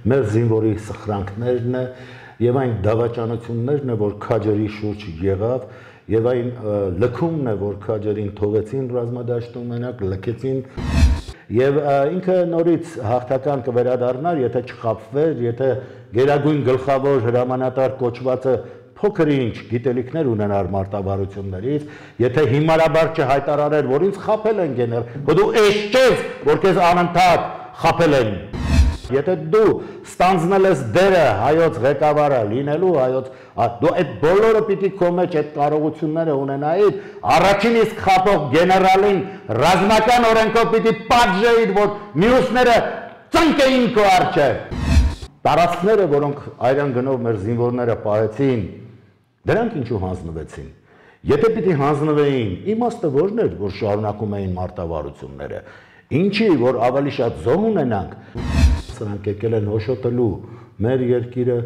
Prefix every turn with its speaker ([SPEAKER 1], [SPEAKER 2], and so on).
[SPEAKER 1] մեր զինվորի սխրանքներն է եւ այն դավաճանություններն է, որ քաջերի շուրջ եղավ, եւ այն լքումն է, որ քաջերին թողեցին ռազմադաշտում մենակ, լքեցին եւ ինքը նորից հաղթական կվերադառնար, եթե չխաբվեր, եթե գերագույն գլխավոր հրամանատար կոչվածը փոքր ինչ գիտելիքներ ունենար մարտավարություններից, եթե հիմարաբար չհայտարարեր, որ ինձ խաբել են գեներ, դու էշչես, որ քեզ անընդհատ խաբել են։ Եթե դու ստանձնել ես դերը հայոց ղեկավարը լինելու, դու այդ բոլորը պիտի քո մեջ այդ կարողությունները ունենայիր, առաջին իսկ խաբող գեներալին ռազմական օրենքով պիտի պատժեիր, որ մյուսները ծնկեին քո առջև։ Տարածքները, որոնք այրան գնով մեր զինվորները պահեցին, դրանք ինչու հանձնվեցին։ Եթե պիտի հանձնվեին, իմաստը որն էր, որ շարունակում էին մարտավարությունները, ինչի, որ ավելի շատ զոհ ունենանք, սրանք եկել են հոշոտելու մեր երկիրը